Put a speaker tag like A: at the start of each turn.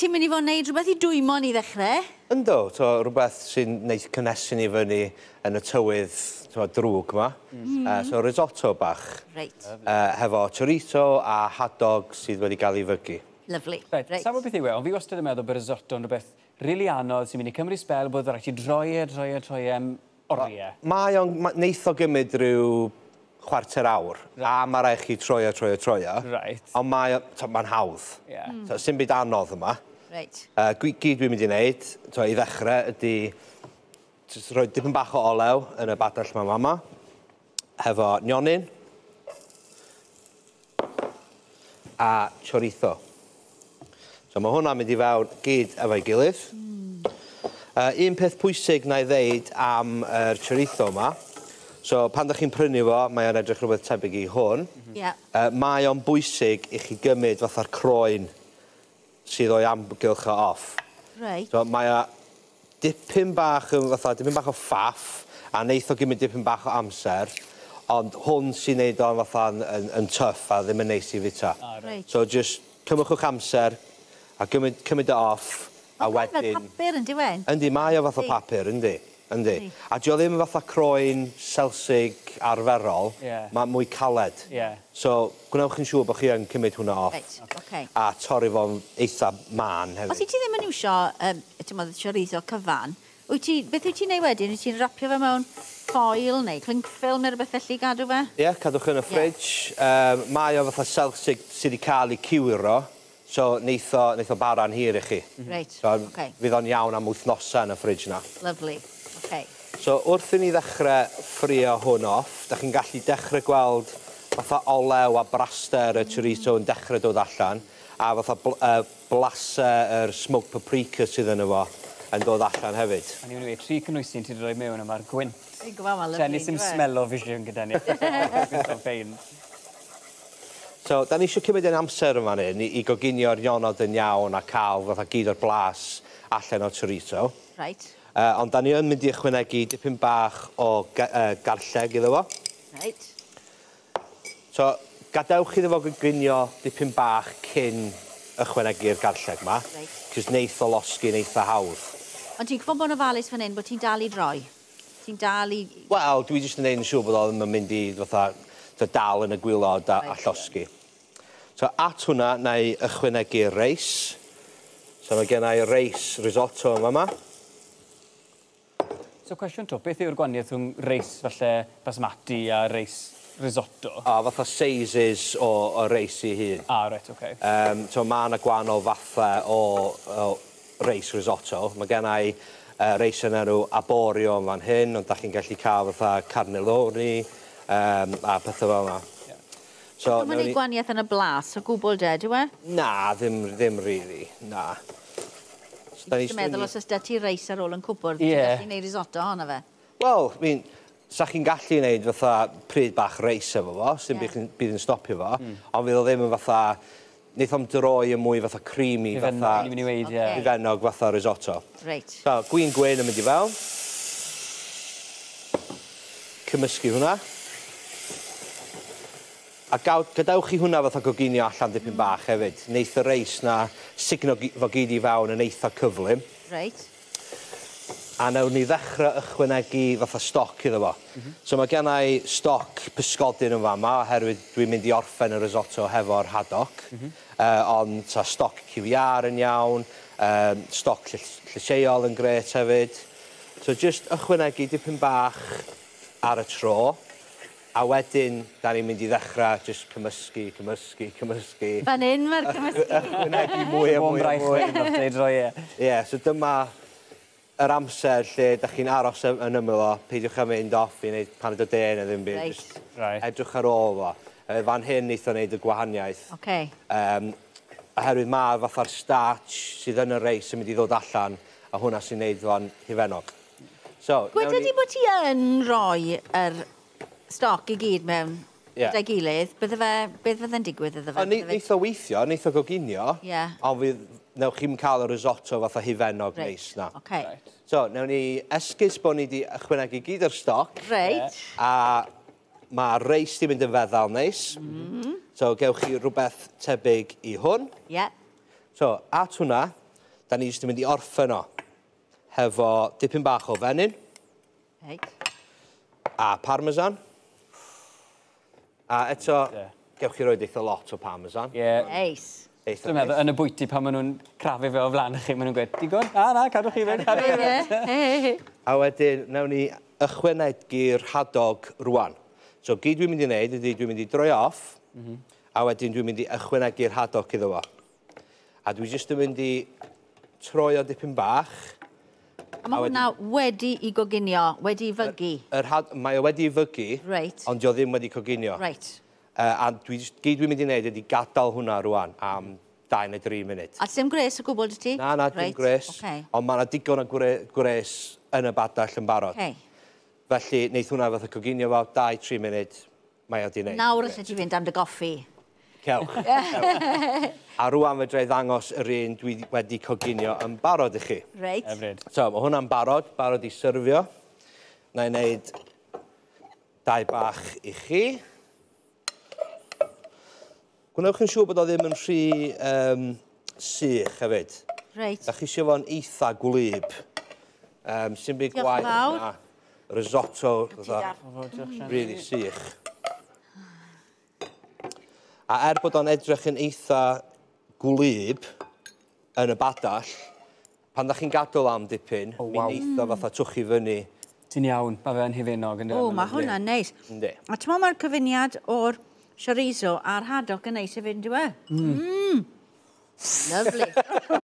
A: Ti'n mynd i fod yn neud rhywbeth i dwymo ni ddechrau?
B: Yndw, to, rhywbeth sy'n neud cynnesu ni fyny yn y tywydd to, drwg yma. So risotto bach.
A: Reit.
B: Hefo chorizo a hadog sydd wedi cael ei fygu.
A: Lovely.
C: Reit, reit. Sa'n beth yw e, ond fi wastad yn meddwl bod risotto yn rhywbeth rili anodd sy'n mynd i cymryd sbel, bod rhaid ti droi e, droi e, droi e am oriau.
B: Mae o'n, neith o gymryd rhyw chwarter awr, right. A mae rhaid chi troi e, troi e, troi e.
C: Right.
B: Ond mae'n hawdd.
C: Yeah.
B: So, sim byd anodd yma.
A: Reit.
B: Gyd dwi'n mynd i wneud, to, i ddechrau, ydy jyst rhoi dipyn bach o olew yn y badell yma mama, hefo nionyn a chorizo. So mae hwnna'n mynd i fewn gyd efo'i gilydd. Un peth pwysig na i ddeud am yr chorizo yma, so pan ydych chi'n prynu fo, mae o'n edrych rhywbeth tebyg i hwn.
A: Yeah.
B: Mae o'n bwysig i chi gymryd fatha'r croen sydd o'i amgylch o off.
A: Right.
B: So mae o dipyn bach yn fatha, dipyn bach o ffaff, a neith o gymryd dipyn bach o amser, ond hwn sy'n neud o'n fatha yn tough a ddim yn neis i fita.
A: Right.
B: So just cymrwch amser a cymryd o off, a wedyn...
A: Fel papur yn diwen?
B: Yndi, mae o fatha papur, yndi. Yndi. A dio ddim fatha croen selsig arferol, mae mwy caled.
C: Yeah.
B: So, gwnewch yn siŵr bod chi yn cymryd hwnna off.
A: Reit, okay.
B: A torri fo'n eitha man hefyd.
A: Os i ti ddim yn iwsio, ti'n meddwl, chorizo cyfan, beth wyt ti'n neud wedyn? Wyt ti'n rapio fe mewn foil neu cling film neu rhywbeth felly gadw fe?
B: Ie, yeah, cadwch yn y fridge. Mae o fatha selsig sydd wedi cael ei cywiro. So, neith o bara'n hir i chi.
A: Reit,
B: so,
A: okay.
B: Fydd o'n iawn am wythnosau yn y fridge na.
A: Lovely, okay.
B: So, wrth i ni ddechrau ffrio hwn off, da chi'n gallu dechrau gweld fatha olew a braster y chorizo yn dechrau dod allan, a fatha blasau yr smoked paprika sydd yn efo yn dod allan hefyd.
C: A ni'n mynd i tri cynwysyn ti wedi rhoi mewn yma'r gwynt.
A: Fi'n gwybod, mae'n lyfli.
C: Tennis yn smell o vision gyda ni. Fi'n
B: So, da ni eisiau cymryd ein amser yma fan hyn i goginio'r nionod yn iawn a cael fatha gyd o'r blas allan o'r chorizo.
A: Right.
B: Ond da ni yn mynd i ychwanegu dipyn bach o garlleg iddo fo.
A: Right.
B: So, gadewch iddo fo goginio dipyn bach cyn ychwanegu'r garlleg yma.
A: Right.
B: Cos neith o losgi'n eitha hawdd.
A: Ond ti'n gwybod bod yn ofalus fan hyn bod ti'n dal i droi? Ti'n dal i...
B: Wel, dwi jyst yn neud yn siŵr bod o ddim yn mynd i fatha dal yn y gwylod a llosgi. So, at hwnna, na i ychwanegu'r reis. So, mae gen i reis risotto yma yma.
C: So, cwestiwn to, beth yw'r gwahaniaeth rhwng reis falle basmati a reis risotto?
B: O, fatha sizes o reis i hun.
C: Ah, reit, oce.
B: So, mae yna gwahanol fathau o reis risotto. Mae gen i reis yn enw arborio yn fan hyn, ond da chi'n gallu cael fatha cannelloni, a pethau fel yna.
A: So, mae'n gwneud gwahaniaeth yn y blas o gwbl de, dyw e?
B: Na, ddim really, na.
A: Dwi'n meddwl os oes da ti reis ar ôl yn cwpwrdd, ti'n gallu gwneud risotto ohono fe?
B: Wel, sa chi'n gallu gwneud fatha pryd bach reis efo fo, sy'n bydd yn stopio fo, ond fydd o ddim yn fatha, neith o'm droi yn mwy fatha creamy, fatha... Hufennog fatha risotto.
A: Reit.
B: So, gwin gwyn yn mynd i fewn. Cymysgu hwnna. A gadewch chi hwnna fatha goginio allan dipyn bach hefyd. Neith y reis na sugno fo gyd i fewn yn eitha cyflym.
A: Reit.
B: A nawn ni ddechrau ychwanegu fatha stoc iddo fo. So mae gen i stoc pysgodyn yn fama, oherwydd dwi'n mynd i orffen y risotto hefo'r haddock. Ond ta stoc QVR yn iawn, stoc llysieuol yn grêt hefyd. So just ychwanegu dipyn bach ar y tro. A wedyn, da ni'n mynd i ddechrau just cymysgu, cymysgu, cymysgu.
A: Fan hyn mae'r cymysgu.
B: Ychwanegu mwy a mwy a mwy. Ie, so dyma yr amser lle da chi'n aros yn ymyl o, peidiwch â mynd off i wneud paned o de neu ddim byd.
A: Reit.
B: Edrych ar ôl fo. Fan hyn neith o wneud y gwahaniaeth.
A: Okay.
B: Oherwydd mae fatha'r starch sydd yn y reis yn mynd i ddod allan, a hwnna sy'n wneud fo'n hufennog. So,
A: Gweda di bod ti yn rhoi yr stoc i gyd mewn gyda'i gilydd, beth fydde'n digwydd iddo fe?
B: Neith o weithio, neith o goginio, ond fydd, newch chi'm cael y risotto fatha hufennog neis na.
A: Okay.
B: So, newn ni esgus bod ni wedi ychwanegu gyd o'r stoc.
A: Reit.
B: A mae'r reis di mynd yn feddal neis. So, gewch chi rhywbeth tebyg i hwn.
A: Ie.
B: So, at hwnna, Da ni jyst yn mynd i orffen o hefo dipyn bach o fenyn.
A: Reit.
B: A parmesan. A eto, gewch chi roid eitha lot o parmesan.
C: Ie. Yeah.
A: Neis.
B: Eitha
C: Dwi'n meddwl, yn y bwyty pan maen nhw'n crafu fe o flaen chi, maen nhw'n gweud, digon? Na, na, cadwch chi fynd, cadwch chi fynd.
B: A wedyn, nawn ni ychwanegu'r hadog rwan. So, gyd dwi'n mynd i wneud ydy dwi'n mynd i droi off, a wedyn dwi'n mynd i ychwanegu'r hadog iddo fo. A dwi jyst yn mynd i troi o dipyn bach.
A: A mae hwnna wedi i goginio, wedi i fygu?
B: Mae o wedi i fygu, ond dio ddim wedi coginio.
A: Reit.
B: A dwi, gyd dwi'n mynd i wneud ydy gadael hwnna rwan am 2 neu 3 munud.
A: A dim gres o gwbl 'da ti?
B: Na, na, dim gres. Ond mae yna digon o gwres yn y badell yn barod. Felly, wneith hwnna fath o coginio fo, 2-3 munud, mae o di wneud.
A: Nawr allet ti fynd am dy goffi.
B: Cewch. A rwan fedra i ddangos yr un dwi wedi coginio yn barod i chi.
A: Reit.
C: Hyfryd.
B: So, mae hwnna'n barod, barod i syrfio. Na i wneud 2 bach i chi. Gwnewch yn siŵr bod o ddim yn rhy sych hefyd.
A: Reit.
B: Da chi isio fo'n eitha gwlyb. Sy'n byd
A: Diolch yn
B: gwaeth
A: fawr.
B: na risotto,
A: Ti
B: fatha,
A: da.
B: really sych. A er bod o'n edrych yn eitha gwlyb yn y badell, pan da chi'n gadael am dipyn,
C: O,
B: mi
C: waw.
B: neith o fatha twchu fyny.
C: Ti'n iawn, mae fe'n hufennog yn
A: O, mae hwnna'n neis.
B: Yndi.
A: A ti'n meddwl mae'r cyfuniad o'r chorizo a'r hadog yn neis hefyd, yndyw e? Lovely.